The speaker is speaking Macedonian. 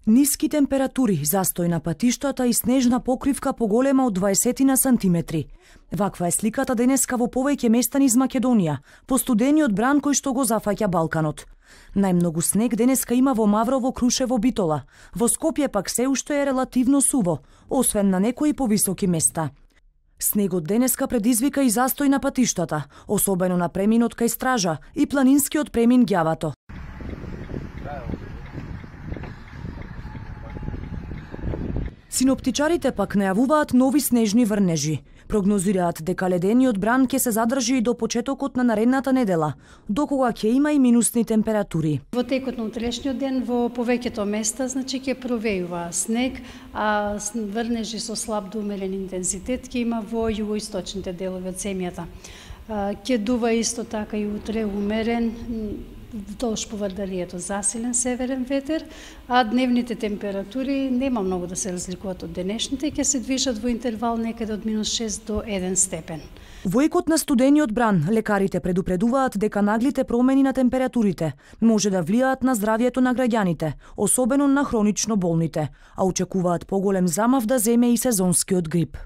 Ниски температури, застој на патиштата и снежна покривка поголема од 20 сантиметри. Ваква е сликата денеска во повеќе места низ Македонија, по студениот бран кој што го зафаќа Балканот. Најмногу снег денеска има во Маврово, Крушево, Битола. Во Скопје пак се уште е релативно суво, освен на некои повисоки места. Снегот денеска предизвика и застој на патиштата, особено на преминот кај Стража и планинскиот премин Ѓавато. Синоптичарите пак најавуваат нови снежни врнежи. Прогнозираат дека ледениот бран ќе се задржи и до почетокот на наредната недела, докога ќе има и минусни температури. Во текот на утрешниот ден во повеќето места ќе провејува снег, а врнежи со слаб до умерен интензитет ќе има во југоисточните делови од земјата. Ќе дува исто така и утре умерен вдолж поврдарието засилен северен ветер, а дневните температури нема многу да се разликуваат од денешните, ќе се движат во интервал некаде од -6 до 1 степен. Во екот на студениот бран, лекарите предупредуваат дека наглите промени на температурите може да влијаат на здравјето на граѓаните, особено на хронично болните, а очекуваат поголем замав да земе и сезонскиот грип.